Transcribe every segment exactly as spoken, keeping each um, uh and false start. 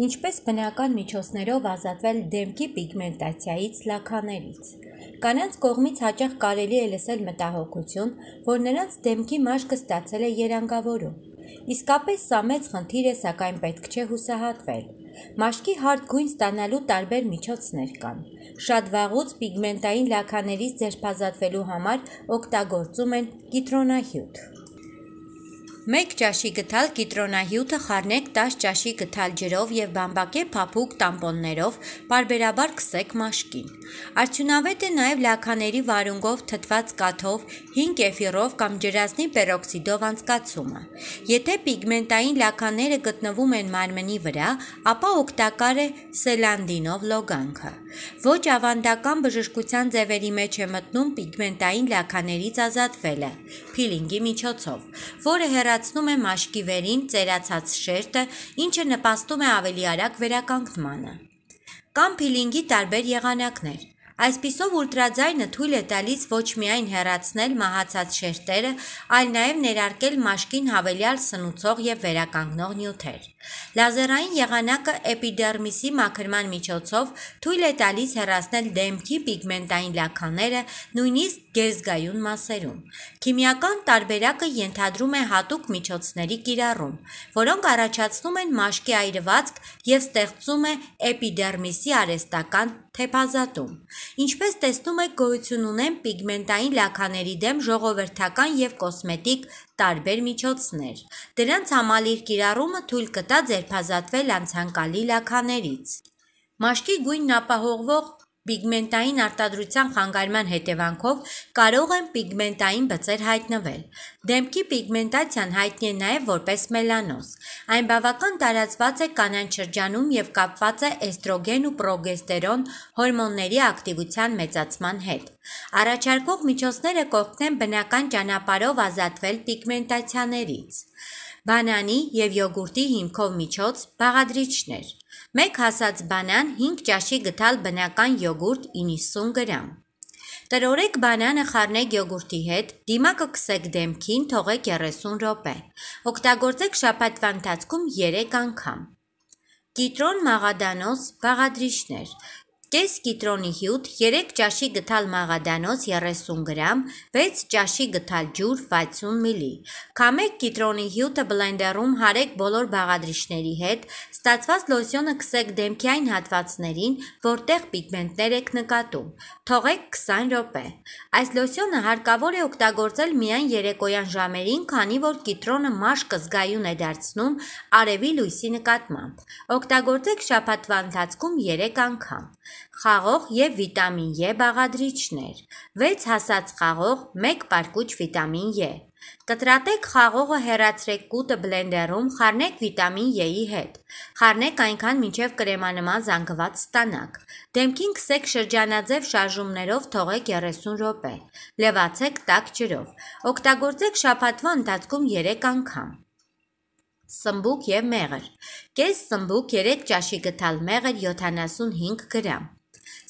Ինչպես բնական միջոցներով ազատվել դեմքի պիգմենտացիայից, լաքաներից։ Կանանց կողմից հաճախ կարելի է լսել մտահոգություն, որ նրանց դեմքի մաշկը ստացել է երանգավորում։ Իսկապես սա մեծ խնդիր է, սակայն պետք չէ հուսահատվել։ Մաշկի հարթ գույն ստանալու տարբեր միջոցներ կան։ Շատ վաղուց պիգմենտային լաքաներից ձերբազատվելու համար օգտագործում են կիտրոնահյութ։ Մեկ ճաշի գթալ կիտրոնահյութը խառնեք տաս ճաշի գթալ ջրով և բամբակե փափուկ տամպոններով պարբերաբար քսեք մաշկին։ Արդյունավետ է նաև լաքաների վարունգով թթված կաթով, հինգ էֆիրով կամ ջրածնի պերօքսիդով անցկացումը։ Եթե պիգմենտային լաքաները գտնվում են մարմնի վրա, ապա օգտակար է սելանդինով լոգանքը։ Ոչ ավանդական բժշկության ձևերի մեջ է մտնում պիգմենտային լաքաներից ազատվելը փիլինգի միջոցով, որը հեռացնում է մաշկի վերին ծերացած շերտը, ինչը նպաստում է ավելի արագ վերականգնմանը։ Կան փիլինգի տարբեր եղանակներ։ Այսպիսով ուլտրաձայնը թույլ է տալիս ոչ միայն հեռացնել մահացած շերտերը, այլ նաև ներարկել մաշկին հավելյալ սնուցող և վերականգնող նյութեր։ Լազերային եղանակը էպիդերմիսի մաքրման միջոցով թույլ է տալիս հեռացնել դեմքի պիգմենտային լաքաները նույնիսկ գեզգայուն մասերում։ Քիմիական տարբերակը ենթադրում է հատուկ միջոցների կիրառում, որոնք առաջացնում են մաշկի այրվածք և ստեղծում է էպիդերմիսի արհեստական թեփազատում։ Ինչպես տեսնում եք, գոյություն ունեն պիգմենտային լաքաների դեմ ժողովրդական և կոսմետիկ տարբեր միջոցներ։ Դրանց համալիր կիրառումը թույլ կտա ձերբազատվել անցանկալի լաքաներից։ Մաշկի գույնն ապահովող պիգմենտային արտադրության խանգարման հետևանքով կարող են պիգմենտային բծեր հայտնվել։ Դեմքի պիգմենտացիան հայտնի է նաև որպես մելանոզ։ Այն բավական տարածված է կանանց շրջանում և կապված է էստրոգեն ու պրոգեստերոն հորմոնների ակտիվության մեծացման հետ։ Առաջարկվող միջոցները կօգնեն բնական ճանապարհով ազատվել պիգմենտացիաներից։ Բանանի և յոգուրտի հիմքով միջոց, բաղադրիչներ։ Մեկ հասած բանան, հինգ ճաշի գթալ բնական յոգուրտ իննսուն գրամ։ Տրորեք բանանը խառնեք յոգուրտի հետ, դիմակը քսեք դեմքին, թողեք երեսուն րոպե։ Օգտագործեք շաբաթվա ընթացքում երեք անգամ։ Կիտրոն մաղադանոց բաղադրիչներ։ Կես կիտրոնի հյութ, երեք ճաշի գթալ մաղադանոց երեսուն գրամ, վեց ճաշի գթալ ջուր վաթսուն միլի։ Քամեք կիտրոնի հյութը բլենդերում հարեք բոլոր բաղադրիչների հետ, ստացված լոսյոնը քսեք դեմքի այն հատվածներին, որտեղ պիգմենտներ եք նկատում։ Թողեք քսան րոպե։ Այս լոսյոնը հարկավոր է օգտագործել միայն երեկոյան ժամերին, քանի որ կիտրոնը մաշկը զգայուն է դարձնում արևի լույսի նկատմամբ։ Օգտագործեք շաբաթվա ընթացքում երեք անգամ։ Խաղող և վիտամին Է բաղադրիչներ։ վեց հասած խաղող, մեկ պարկուճ վիտամին Է։ Կտրատեք խաղողը, հեռացրեք կուտը բլենդերում, խառնեք վիտամին Է-ի հետ։ Խառնեք այնքան, մինչև կրեմանման զանգված ստանաք։ Դեմքին քսեք շրջանաձև շարժումներով, թողեք երեսուն րոպե։ Լվացեք տաք ջրով։ Օգտագործեք շաբաթվա ընթացքում երեք անգամ։ Սմբուկ և մեղր։ Կես սմբուկ, երեք ճաշի գթալ մեղր յոթանասունհինգ գրամ։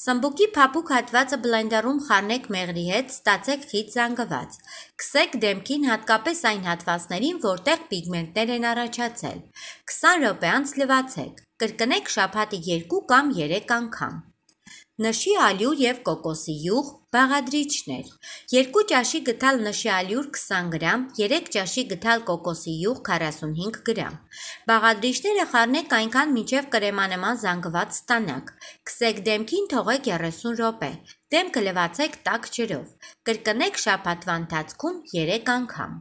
Սմբուկի փափուկ հատվածը բլենդերում խառնեք մեղրի հետ, ստացեք խիտ զանգված։ Քսեք դեմքին, հատկապես այն հատվածներին, որտեղ պիգմենտներ են առաջացել։ քսան րոպե անց լվացեք։ Կրկնեք շաբաթը երկու կամ երեք անգամ։ Նշի ալյուր և կոկոսի յուղ բաղադրիչներ։ Երկու ճաշի գթալ նշի ալյուր քսան գրամ, երեք ճաշի գթալ կոկոսի յուղ քառասունհինգ գրամ։ Բաղադրիչները խառնեք այնքան, մինչև կրեմանման զանգված ստանաք։ Քսեք դեմքին, թողեք երեսուն րոպե։ Դեմքը լվացեք տաք ջրով։ Կրկնեք շաբաթվա ընթացքում երեք անգամ։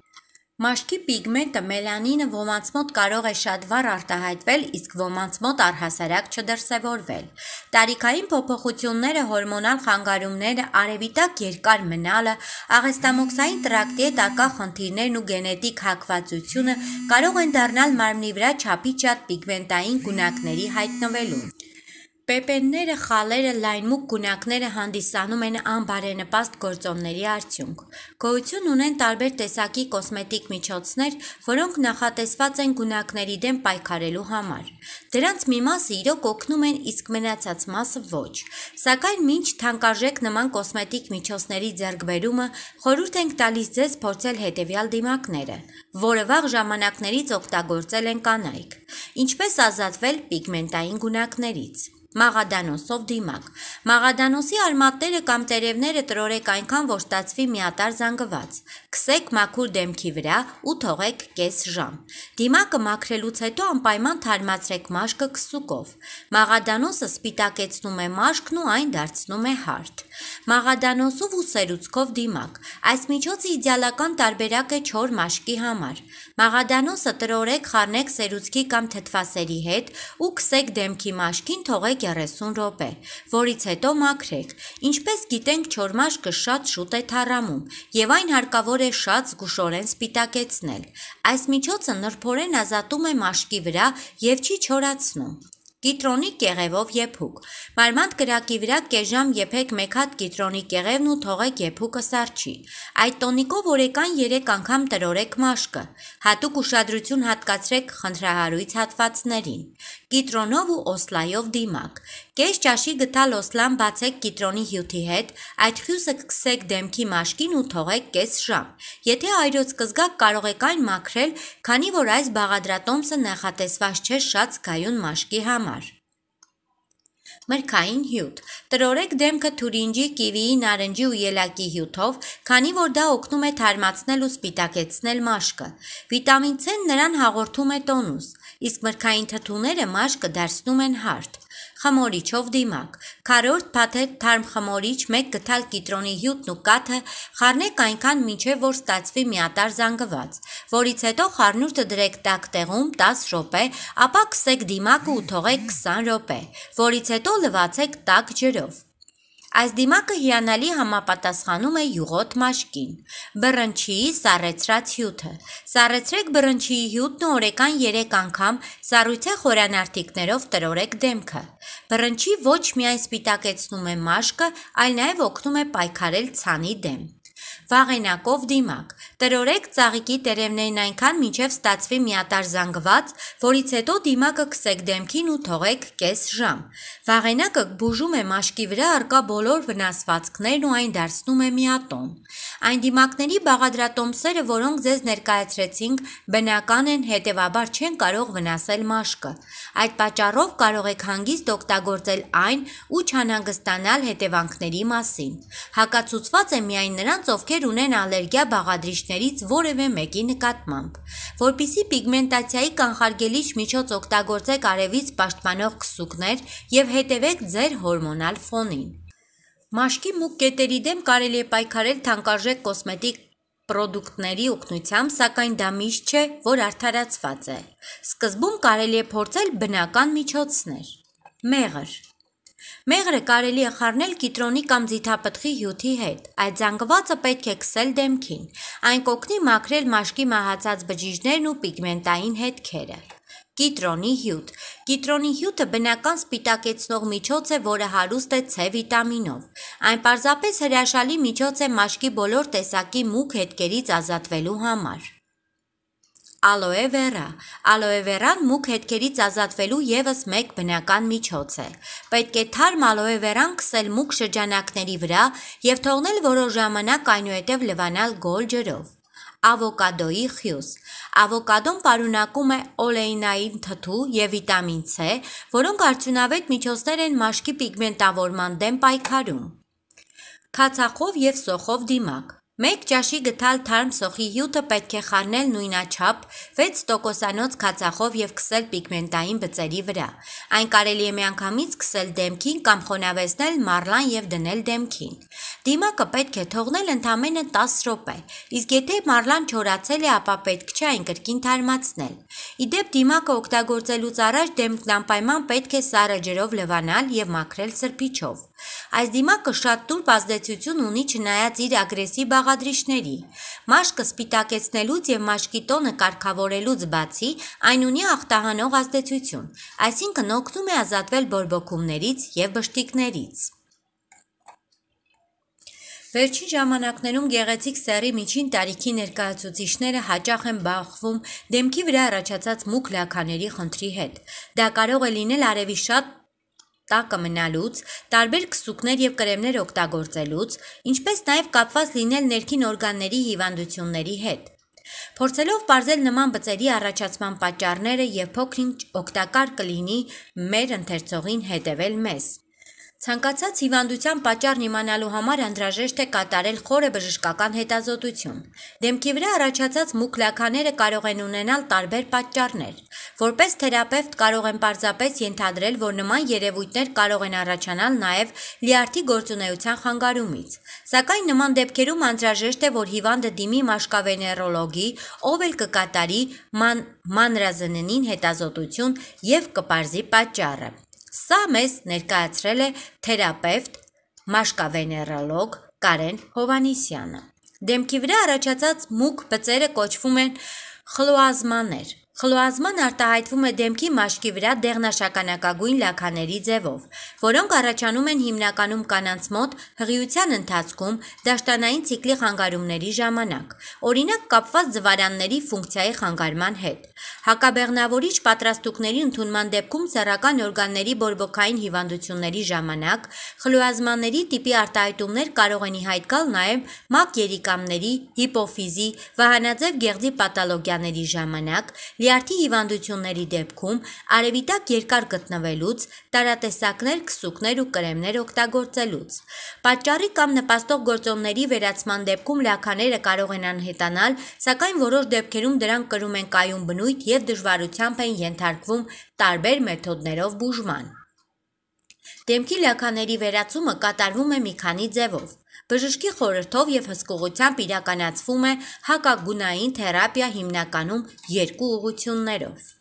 Մաշկի պիգմենտը մելանինը ոմանց մոտ կարող է շատ վառ արտահայտվել, իսկ ոմանց մոտ առհասարակ չդրսևորվել։ Տարիքային փոփոխությունները, հորմոնալ խանգարումները, արևի տակ երկար մնալը, աղեստամոքսային տրակտի հետ արկա խնդիրներն ու գենետիկ հակվածությունը կարող են դառնալ մարմնի վրա չափից շատ պիգմենտային գունակների հայտնվելուն։ Պեպենները, խալերը, լայնմուկ գունակները հանդիսանում են անբարենպաստ գործոնների արդյունք։ Գոյություն ունեն տարբեր տեսակի կոսմետիկ միջոցներ, որոնք նախատեսված են գունակների դեմ պայքարելու համար։ Դրանց մի մասը իրոք օգնում են, իսկ մնացած մասը ոչ։ Սակայն մինչ թանկարժեք նման կոսմետիկ միջոցների ձեռքբերումը, խորհուրդ ենք տալիս ձեզ փորձել հետևյալ դիմակները, որը վաղ ժամանակներից օգտագործել են կանայք։ Ինչպես ազատվել պիգմենտային գունակներից։ Մաղադանոսով դիմակ։ Մաղադանոսի արմատները կամ տերևները տրորեք այնքան, որ ստացվի միատարր զանգված։ Քսեք մաքուր դեմքի վրա ու թողեք կես ժամ։ Դիմակը մաքրելուց հետո անպայման թարմացրեք մաշկը քսուկով։ Մաղադանոսը սպիտակեցնում է մաշկն ու այն դարձնում է հարթ։ Մաղադանոսով ու սերուցքով դիմակ։ Այս միջոցը իդեալական տարբերակ է չոր մաշկի համար։ Մաղադանոսը տրորեք, խառնեք սերուցքի կամ թթվասերի հետ ու քսեք դեմքի մաշկին, թողեք երեսուն րոպե, որից հետո մաքրեք։ Ինչպես գիտենք, չոր մաշկը շատ շուտ է թառամում եւ այն հարկավոր է շատ զգուշորեն սպիտակեցնել։ Այս միջոցը նրբորեն ազատում է մաշկի վրա եւ չի չորացնում։ Կիտրոնի կեղևով եփուկ։ Մարմանդ կրակի վրա կես ժամ եփեք մեկ հատ կիտրոնի կեղևն ու թողեք եփուկը սառչի։ Այդ տոնիկով օրեկան երեք անգամ տրորեք մաշկը։ Հատուկ ուշադրություն հատկացրեք խնդրահարույց հատվածներին։ Կիտրոնով ու օսլայով դիմակ։ Կես ճաշի գթալ օսլան բացեք կիտրոնի հյութի հետ, այդ խյուսը քսեք դեմքի մաշկին ու թողեք կես ժամ։ Եթե այրոց կզգաք, կարող եք այն մաքրել, քանի որ այս բաղադրատոմսը նախատեսված չէ շատ զգայուն մաշկի համար։ Մրգային հյութ։ Տրորեք դեմքը թուրինջի, կիվիի, նարնջի ու ելակի հյութով, քանի որ դա օգնում է թարմացնել ու սպիտակեցնել մաշկը։ Վիտամին C-ն նրան հաղորդում է տոնուս, իսկ մրգային թթուները մաշկը դարձնում են հարթ։ Խմորիչով դիմակ։ Քառորդ փաթեթ թարմ խմորիչ, մեկ գթալ կիտրոնի հյութն ու կաթը խառնեք այնքան մինչև որ ստացվի միատարր զանգված, որից հետո խառնուրդը դրեք տաք տեղում տասը րոպե, ապա քսեք դիմակը ու թողեք քսան րոպե, որից հետո լվացեք տաք ջրով։ Այս դիմակը հիանալի համապատասխանում է յուղոտ մաշկին։ Բռնչիի սառեցրած հյութը։ Սառեցրեք բռնչիի հյութն ու օրեկան երեք անգամ սառույցե խորանարդիկներով տրորեք դեմքը։ Բռնչի ոչ միայն սպիտակեցնում է մաշկը, այլ նաև օգնում է պայքարել ցանի դեմ։ Վաղենակով դիմակ։ Տրորեք ծաղիկի տերևներն այնքան, մինչև ստացվի միատարր զանգված, որից հետո դիմակը քսեք դեմքին ու թողեք կես ժամ։ Վաղենակը բուժում է մաշկի վրա առկա բոլոր վնասվածքներն ու այն դարձնում է միատոն։ Այն դիմակների բաղադրատոմսերը, որոնք ձեզ ներկայացրեցինք, բնական են, հետևաբար չեն կարող վնասել մաշկը։ Այդ պատճառով կարող եք հանգիստ օգտագործել այն ու չանհանգստանալ հետևանքների մասին։ Հակացուցված է միայն նրանց, ովքեր ունեն ալերգիա բաղադրիչներից որևէ մեկի նկատմամբ։ Որպեսզի պիգմենտացիայի կանխարգելիչ միջոց օգտագործեք արևից պաշտպանող քսուկներ եւ հետևեք ձեր հորմոնալ ֆոնին։ Մաշկի մուգ կետերի դեմ կարելի է պայքարել թանկարժեք կոսմետիկ պրոդուկտների օգնությամբ, սակայն դա միշտ չէ, որ արդարացված է։ Սկզբում կարելի է փորձել բնական միջոցներ։ Մեղր։ Մեղրը կարելի է խառնել կիտրոնի կամ ձիթապտղի հյութի հետ։ Այդ զանգվածը պետք է քսել դեմքին։ Այն կօգնի մաքրել մաշկի մահացած բջիջներն ու պիգմենտային հետքերը։ Կիտրոնի հյութ։ Կիտրոնի հյութը բնական սպիտակեցնող միջոց է, որը հարուստ է C վիտամինով։ Այն պարզապես հրաշալի միջոց է մաշկի բոլոր տեսակի մուգ հետքերից ազատվելու համար։ Ալոե վերա։ Ալոե վերան մուգ հետքերից ազատվելու ևս մեկ բնական միջոց է։ Պետք է թարմ ալոե վերան քսել մուգ շրջանակների վրա եւ թողնել որոշ ժամանակ, այնուհետեւ լվանալ գոլ ջրով։ Ավոկադոյի խյուս։ Ավոկադոն պարունակում է օլեինային թթու եւ վիտամին C, որոնք արդյունավետ միջոցներ են մաշկի պիգմենտավորման դեմ պայքարում։ Քացախով եւ սոխով դիմակ։ Մեկ ճաշի գթալ թարմ սոխի հյութը պետք է խառնել նույնաչափ վեց տոկոսանոց քացախով եւ քսել պիգմենտային բծերի վրա։ Այն կարելի է միանգամից քսել դեմքին կամ խոնավեցնել մառլան եւ դնել դեմքին։ Դիմակը պետք է թողնել ընդամենը տասը րոպե, իսկ եթե մառլան չորացել է, ապա պետք չէ այն կրկին թարմացնել։ Իդեպ դիմակը օգտագործելուց առաջ դեմքն անպայման պետք է սառը ջրով լվանալ և մաքրել սրբիչով։ Այս դիմակը շատ տուրբ ազդեցություն ունի չնայած իր ագրեսիվ բաղադրիչների։ Մաշկը սպիտակեցնելուց և մաշկի տոնը կարգավորելուց բացի, այն ունի ախտահանող ազդեցություն, այսինքն օգնում է ազատվել բորբոքումներից և բշտիկներից։ Վերջին ժամանակներում գեղեցիկ սեռի միջին տարիքի ներկայացուցիչները հաճախ են բախվում դեմքի վրա առաջացած մուգ լաքաների խնդրի հետ։ Դա կարող է լինել արևի շատ տակը մնալուց, տարբեր քսուկներ և կրեմներ օգտագործելուց, ինչպես նաև կապված լինել ներքին օրգանների հիվանդությունների հետ։ Փորձելով պարզել նման բծերի առաջացման պատճառները և փոքր-ինչ օգտակար կլինի մեր ընթերցողին հետևել մեզ։ Ցանկացած հիվանդության պատճառն իմանալու համար անհրաժեշտ է կատարել խորը բժշկական հետազոտություն։ Դեմքի վրա առաջացած մուգ լաքաները կարող են ունենալ տարբեր պատճառներ։ Որպես թերապևտ կարող եմ պարզապես ենթադրել, որ նման երևույթներ կարող են առաջանալ նաև լյարդի գործունեության խանգարումից։ Սակայն նման դեպքերում անհրաժեշտ է, որ հիվանդը դիմի մաշկավեներոլոգի, ով էլ կկատարի ման, մանրազննին հետազոտություն և կպարզի պատճառը։ Սա մեզ ներկայացրել է թերապևտ, մաշկավեներոլոգ Կարեն Հովհաննիսյանը։ Դեմքի վրա առաջացած մուգ բծերը կոչվում են խլոազմաներ։ Խլոազման արտահայտվում է դեմքի մաշկի վրա դեղնաշագանակագույն լաքաների ձևով, որոնք առաջանում են հիմնականում կանանց մոտ հղիության ընթացքում դաշտանային ցիկլի խանգարումների ժամանակ, օրինակ կապված ձվարանների ֆունկցիայի խանգարման հետ։ Հակաբեղմնավորիչ պատրաստուկների ընդունման դեպքում սեռական օրգանների բորբոքային հիվանդությունների ժամանակ խլոազմանների տիպի արտահայտումներ կարող են ի հայտ գալ նաև մակ երիկամների, հիպոֆիզի, վահանաձև գեղձի պաթոլոգիաների ժամանակ, լյարդի հիվանդությունների դեպքում, արևի տակ երկար գտնվելուց, տարատեսակներ, քսուկներ ու կրեմներ օգտագործելուց։ Պատճառի կամ նպաստող գործոնների վերացման դեպքում լաքաները կարող են անհետանալ, սակայն որոշ դեպքերում դրանք կրում են կայուն բնույթ և դժվարությամբ են ենթարկվում տարբեր մեթոդներով բուժման։ Դեմքի լաքաների վերացումը կատարվում է մի քանի ձևով։ Բժշկի խորհրդով և հսկողությամբ իրականացվում է հակագունային թերապիա հիմնականում երկու ուղղություններով։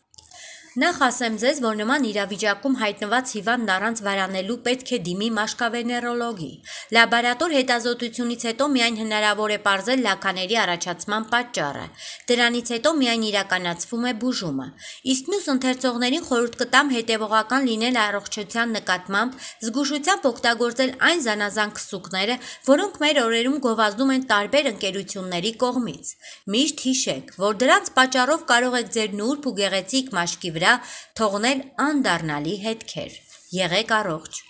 Նախ ասեմ ձեզ, որ նման իրավիճակում հայտնված հիվանդն առանց վարանելու պետք է դիմի մաշկավեներոլոգի։ Լաբորատոր հետազոտությունից հետո միայն հնարավոր է պարզել լաքաների առաջացման պատճառը։ Դրանից հետո միայն իրականացվում է բուժումը։ Իսկ մյուս ընթերցողներին խորհուրդ կտամ հետևողական լինել առողջության նկատմամբ, զգուշությամբ օգտագործել այն զանազան քսուկները, որոնք մեր օրերում գովազդում են տարբեր ընկերությունների կողմից։ Միշտ հիշեք, որ դրանց պատճառով կարող եք ձեր նուրբ ու գեղեցիկ մաշկի վրա թողնել անդառնալի հետքեր։ Եղեք առողջ։